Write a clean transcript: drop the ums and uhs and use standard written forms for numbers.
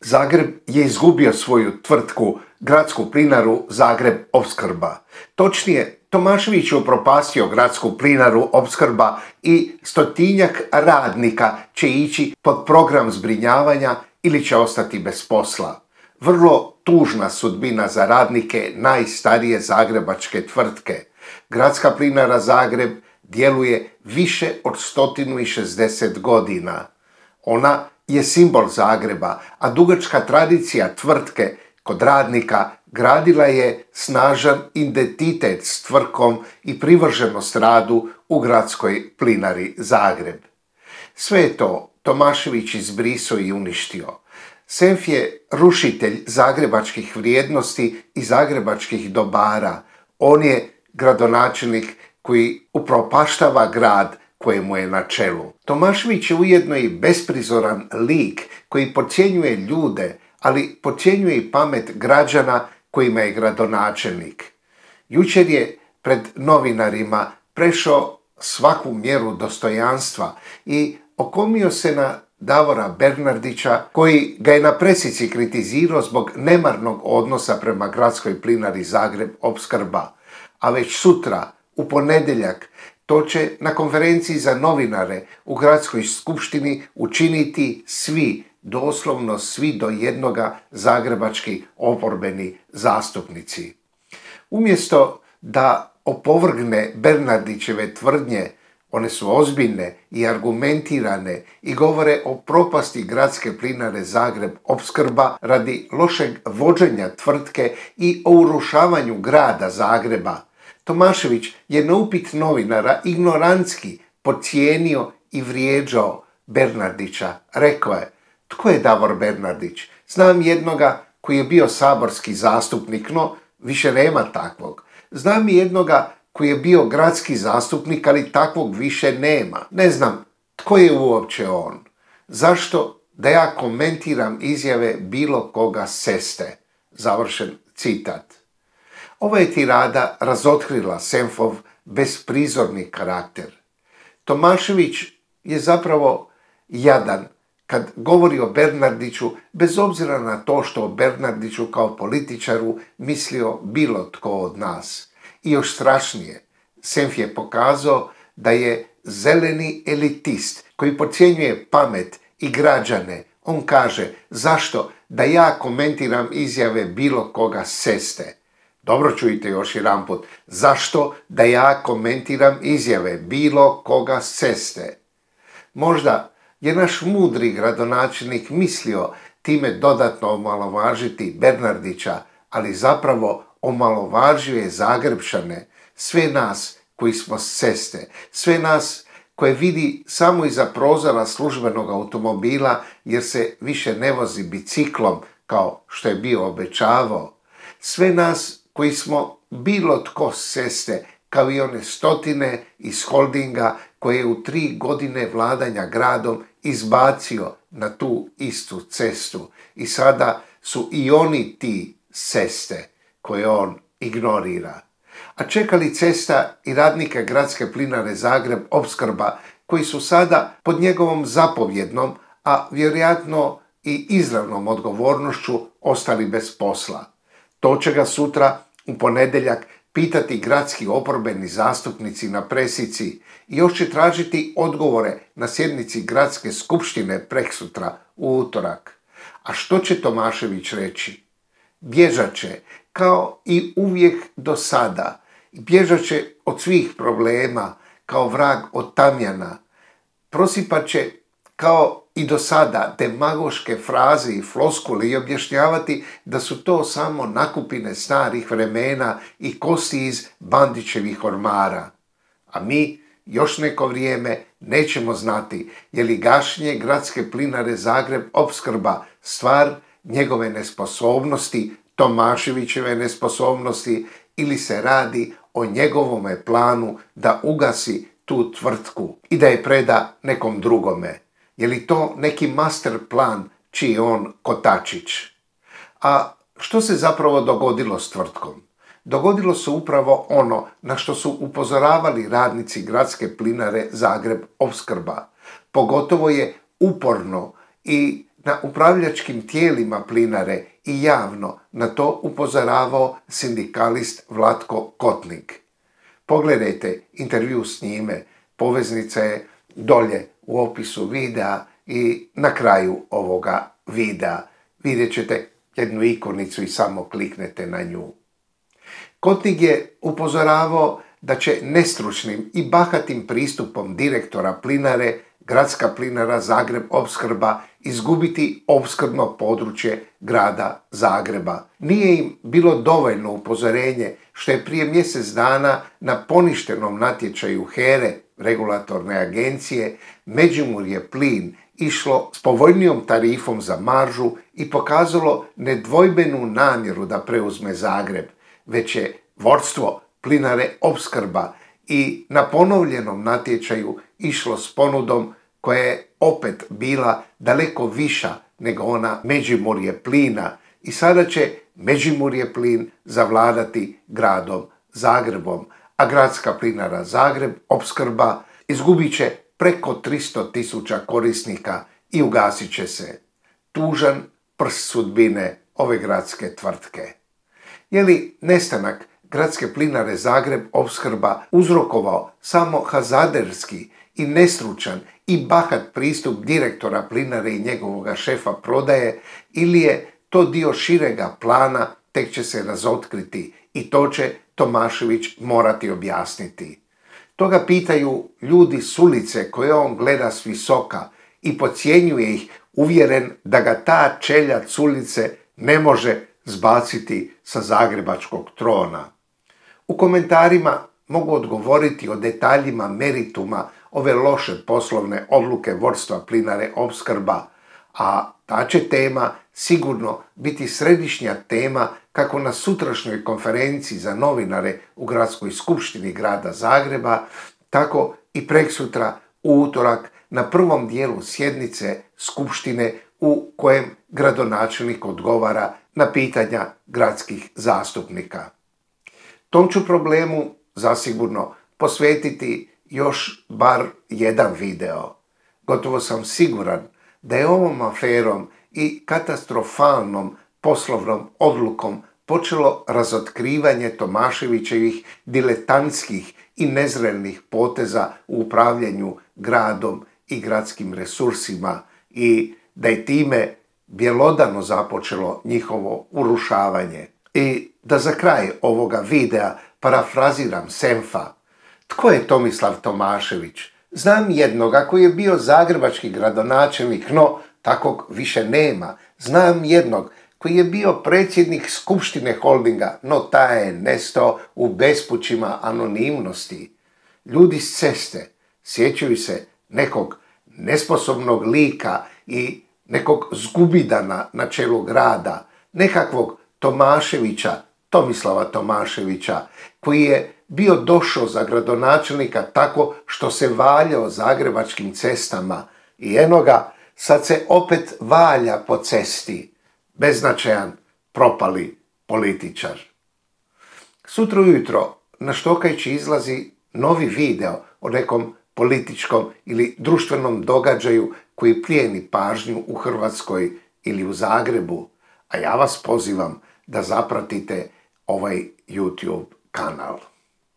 Zagreb je izgubio svoju tvrtku Gradsku plinaru Zagreb Opskrba. Točnije, Tomašević je upropastio Gradsku plinaru Opskrba i 100-tinjak radnika će ići pod program zbrinjavanja ili će ostati bez posla. Vrlo tužna sudbina za radnike najstarije zagrebačke tvrtke. Gradska plinara Zagreb djeluje više od 160 godina. Ona je simbol Zagreba, a dugačka tradicija tvrtke kod radnika gradila je snažan identitet s tvrtkom i privrženost radu u Gradskoj plinari Zagreb. Sve je to Tomašević izbrisao i uništio. Senf je rušitelj zagrebačkih vrijednosti i zagrebačkih dobara. On je gradonačelnik koji upropaštava grad kojemu je na čelu. Tomašević je ujedno i besprizoran lik koji podcjenjuje ljude, ali podcjenjuje i pamet građana kojima je gradonačelnik. Jučer je pred novinarima prešao svaku mjeru dostojanstva i okomio se na Davora Bernardića, koji ga je na presici kritizirao zbog nemarnog odnosa prema Gradskoj plinari Zagreb Opskrba. A već sutra, u ponedjeljak, to će na konferenciji za novinare u Gradskoj skupštini učiniti svi, doslovno svi do jednoga zagrebački oporbeni zastupnici. Umjesto da opovrgne Bernardićeve tvrdnje, one su ozbiljne i argumentirane i govore o propasti Gradske plinare Zagreb Opskrba radi lošeg vođenja tvrtke i o urušavanju grada Zagreba. Tomašević je na upit novinara ignorantski podcijenio i vrijeđao Bernardića. Rekao je: "Tko je Davor Bernardić? Znam jednoga koji je bio saborski zastupnik, no više nema takvog. Znam i jednoga koji je bio gradski zastupnik, ali takvog više nema. Ne znam tko je uopće on. Zašto da ja komentiram izjave bilo koga seste?" Završen citat. Ova je tirada razotkrila Senfov besprizorni karakter. Tomašević je zapravo jadan kad govori o Bernardiću, bez obzira na to što o Bernardiću kao političaru mislio bilo tko od nas. I još strašnije, Senf je pokazao da je zeleni elitist koji podcjenjuje pamet i građane. On kaže: "Zašto da ja komentiram izjave bilo koga seste?" Dobro čujte još jedanput. Zašto da ja komentiram izjave bilo koga seste? Možda je naš mudri gradonačelnik mislio time dodatno omalovažiti Bernardića, ali zapravo omalovažio je Zagrebčane, sve nas koji smo seste, sve nas koje vidi samo iza prozora službenog automobila jer se više ne vozi biciklom kao što je bio obećavao, sve nas koji smo bilo tko seste, kao i one stotine iz holdinga koje je u 3 godine vladanja gradom izbacio na tu istu cestu. I sada su i oni ti seste koje on ignorira. A čeka li cesta i radnika Gradske plinare Zagreb Opskrba koji su sada pod njegovom zapovjednom, a vjerojatno i izravnom odgovornošću ostali bez posla. To će ga sutra u ponedjeljak pitati gradski oporbeni zastupnici na presici i još će tražiti odgovore na sjednici Gradske skupštine preksutra u utorak. A što će Tomašević reći? Bježat će, kao i uvijek do sada. Bježat će od svih problema, kao vrag od tamjana. Prosipat će, kao i do sada, demagoške fraze i floskule i objašnjavati da su to samo nakupine starih vremena i kosti iz Bandićevih ormara. A mi još neko vrijeme nećemo znati je li gašenje Gradske plinare Zagreb Opskrba stvar njegove nesposobnosti, Tomaševićeve nesposobnosti, ili se radi o njegovome planu da ugasi tu tvrtku i da je preda nekom drugome. Je li to neki master plan čiji on kotačić? A što se zapravo dogodilo s tvrtkom? Dogodilo se upravo ono na što su upozoravali radnici Gradske plinare Zagreb Opskrba. Pogotovo je uporno i na upravljačkim tijelima Plinare i javno na to upozoravao sindikalist Vlatko Kotnik. Pogledajte intervju s njime, poveznica je dolje u opisu videa i na kraju ovoga videa. Vidjet ćete jednu ikonicu i samo kliknete na nju. Kotnik je upozoravao da će nestručnim i bahatim pristupom direktora Plinare Gradska plinara Zagreb Opskrba izgubiti opskrbno područje grada Zagreba. Nije im bilo dovoljno upozorenje što je prije mjesec dana na poništenom natječaju HERE, regulatorne agencije, Međimurje plin išlo s povoljnijom tarifom za maržu i pokazalo nedvojbenu namjeru da preuzme Zagreb, već je vodstvo Plinare Opskrba i na ponovljenom natječaju išlo s ponudom koja je opet bila daleko viša nego ona Međimurje plina i sada će Međimurje plin zavladati gradom Zagrebom, a Gradska plinara Zagreb Opskrba izgubit će preko 300.000 korisnika i ugasit će se. Tužan prst sudbine ove gradske tvrtke. Je li nestanak Gradske plinare Zagreb Opskrba uzrokovao samo hazarderski i nestručan i bahat pristup direktora Plinare i njegovoga šefa prodaje, ili je to dio širega plana, tek će se razotkriti i to će Tomašević morati objasniti. To ga pitaju ljudi s ulice koje on gleda s visoka i podcjenjuje ih, uvjeren da ga ta čeljad s ulice ne može zbaciti sa zagrebačkog trona. U komentarima mogu odgovoriti o detaljima merituma ove loše poslovne odluke vodstva Plinare Opskrba, a ta će tema sigurno biti središnja tema kako na sutrašnjoj konferenciji za novinare u Gradskoj skupštini grada Zagreba, tako i preksutra u utorak na prvom dijelu sjednice skupštine u kojem gradonačelnik odgovara na pitanja gradskih zastupnika. Tom ću problemu zasigurno posvetiti još bar jedan video. Gotovo sam siguran da je ovom aferom i katastrofalnom poslovnom odlukom počelo razotkrivanje Tomaševićevih diletantskih i nezrelih poteza u upravljanju gradom i gradskim resursima i da je time bjelodano započelo njihovo urušavanje. I da za kraj ovoga videa parafraziram Senfa. Tko je Tomislav Tomašević? Znam jednoga koji je bio zagrebački gradonačelnik, no takvog više nema. Znam jednog koji je bio predsjednik skupštine holdinga, no taj je nestao u bespućima anonimnosti. Ljudi s ceste sjećaju se nekog nesposobnog lika i nekog zgubidana na čelu grada, nekakvog Tomaševića, Tomislava Tomaševića, koji je bio došao za gradonačelnika tako što se valjao zagrebačkim cestama i eno ga, sad se opet valja po cesti, beznačajan, propali političar. Sutra ujutro na Štokajči izlazi novi video o nekom političkom ili društvenom događaju koji plijeni pažnju u Hrvatskoj ili u Zagrebu, a ja vas pozivam da zapratite ovaj YouTube kanal.